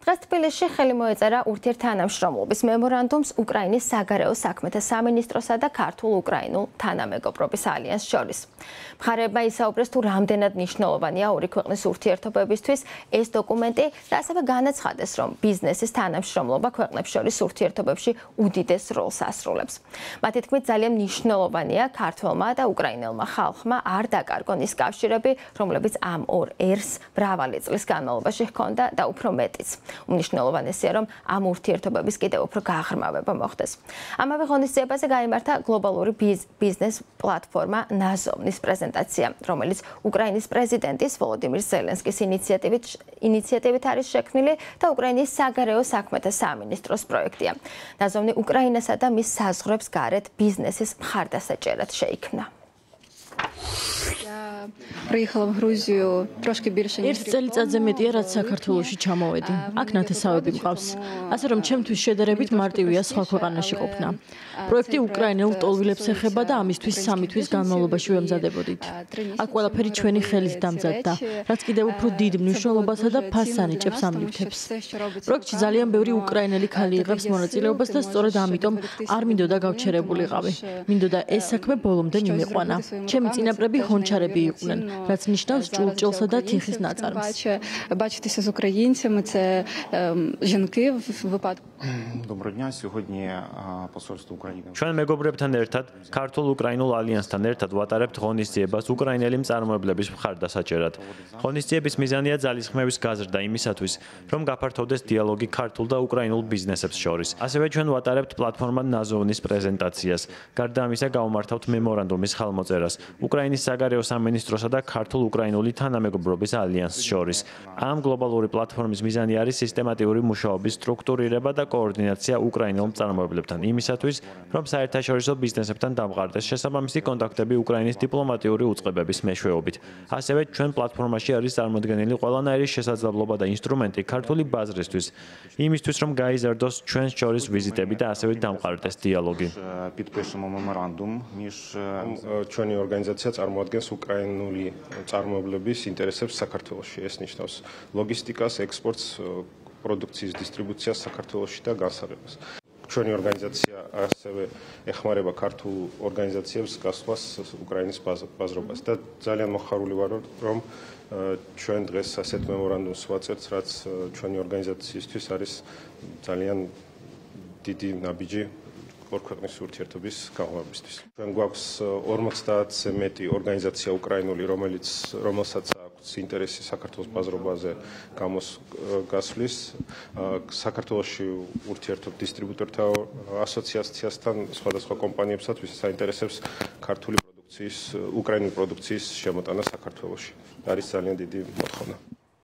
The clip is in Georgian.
დღეს თბილისში ხელი მოეწერა ურთიერთთანამშრომლობის მემორანდუმს უკრაინის საგარეო საქმეთა სამინისტროსა და ქართულ-უკრაინულ თანამეგობრობის ალიანსს შორის. მხარეებმა ისაუბრეს თუ რამდენად მნიშვნელოვანია ორი ქვეყნის ურთიერთობებისთვის ეს დოკუმენტი და ასევე განაცხადეს, რომ ბიზნესის თანამშრომლობა ქვეყნებს შორის ურთიერთობებში უდიდეს როლს ასრულებს. მათი თქმით, ძალიან მნიშვნელოვანია ქართველმა და უკრაინელმა ხალხმა არ დაკარგონ ის კავშირები, რომლებიც ამ ორ ერს მრავალი წლის განმავლობაში ჰქონდა და უფრო მეტიც. უმნიშვნელოვანესია, რომ ამ ურთიერთობების კიდევ უფრო გაღრმავება მოხდეს. ამავე ღონისძიებაზე გაიმართა გლობალური ბიზნეს პლატფორმა ნაზოვნის პრეზენტაცია, რომელიც უკრაინის პრეზიდენტის ვოლოდიმირ ზელენსკის ინიციატივით არის შექმნილი და უკრაინის საგარეო საქმეთა სამინისტროს პროექტია. ნაზოვნი უკრაინასა და მის საზღვრებს გარეთ ბიზნესის მხარდასაჭერად შეიქმნა. ერთ წელიწადზე მეტია, რაც საქართველოში ჩამოვედი. აქ ნათესავები მყავს. ასე რომ ჩემთვის შედარებით მარტივია სხვა ქვეყანაში ყოფნა. პროექტი უკრაინელ ლტოლვილებს ეხება და ამისთვის 3 თვის განმავლობაში ვემზადებოდით. აქ ყველაფერი ჩვენი ხელით დამზადდა, რაც კიდევ უფრო დიდ მნიშვნელობასა და ფასს ანიჭებს ამ ნივთებს. პროექტში ძალიან ბევრი უკრაინელი ქალი იღებს მონაწილეობას და სწორედ ამიტომ არ მინდოდა გავჩერებულიყავი. მინდოდა ეს საქმე ბოლომდე მიმეყვანა. ჩემი წინაპრები ჰონჩარები იყვნენ, რაც ნიშნავს ჭურჭელსა და თიხის ნაწარმს. Бачитися з українцями це жінки в випадку. Доброго дня. Сьогодні посольство України. ჩვენ მეგობრებთან ერთად, ქართულ-უკრაინულ ალიანსთან ერთად ვატარებთ ღონისძიებას უკრაინელი მწარმოებლების მხარდასაჭერად. ღონისძიების მიზანია ძალისხმევის გაზრდა იმისათვის, რომ გაფართოვდეს დიალოგი ქართულ და უკრაინულ ბიზნესებს შორის. ასევე ჩვენ ვატარებთ პლატფორმა ნაზოვნის პრეზენტაციას. გარდა ამისა, გავმართავთ მემორანდუმის ხალმოწერას უკრაინის საგარეო სამინისტროსა და ქართულ-უკრაინული თანამეგობრობის ალიანსს შორის. ამ გლობალური პლატფორმის მიზანი არის სისტემატიური მუშაობის სტრუქტურირება და კოორდინაცია უკრაინელ მწარმოებლებთან იმისათვის, რომ საერთაშორისო ბიზნესებთან დამყარდეს შესაბამისი კონტაქტები უკრაინის დიპლომატიური უწყებების მეშვეობით. ასევე ჩვენ პლატფორმაში არის წარმოდგენილი ყველანაირი შესაძლებლობა და ინსტრუმენტი ქართული ბაზრისთვის, იმისთვის, რომ გაიზარდოს ჩვენს შორის ვიზიტები და ასევე დამყარდეს დიალოგი. Підпишемо меморандум між ჩვენი ორგანიზაცია წარმოადგენს უკრაინული წარმოებლების ინტერესებს საქართველოში. ეს ნიშნავს ლოგისტიკას, ექსპორტს, პროდუქციის დისტრიბუციას საქართველოში და განსაზღვრებას. ჩვენი ორგანიზაცია ასევე ეხმარება ქართულ ორგანიზაციებს გასვლას უკრაინის ბაზრობას და ძალიან მოხარული ვარ, რომ ჩვენ დღეს ასეთ მემორანდუმს ვაწერთ, რაც ჩვენი ორგანიზაციისთვის არის ძალიან დიდი ნაბიჯი ორ ქვეყნის ურთიერთობის გაღვივებისთვის. ჩვენ გვაქვს 50-ზე მეტი ორგანიზაცია უკრაინული, რომელსაც აქვს ინტერესი საქართველოს ბაზრობაზე გასვლის. საქართველოში ურთიერთობ დისტრიბუტორთა ასოციაციასთან, სხვადასხვა კომპანიებსაც, ვისაც აინტერესებს ქართული პროდუქციის, უკრაინული პროდუქციის შემოტანა საქართველოში. არის ძალიან დიდი მოთხოვნა.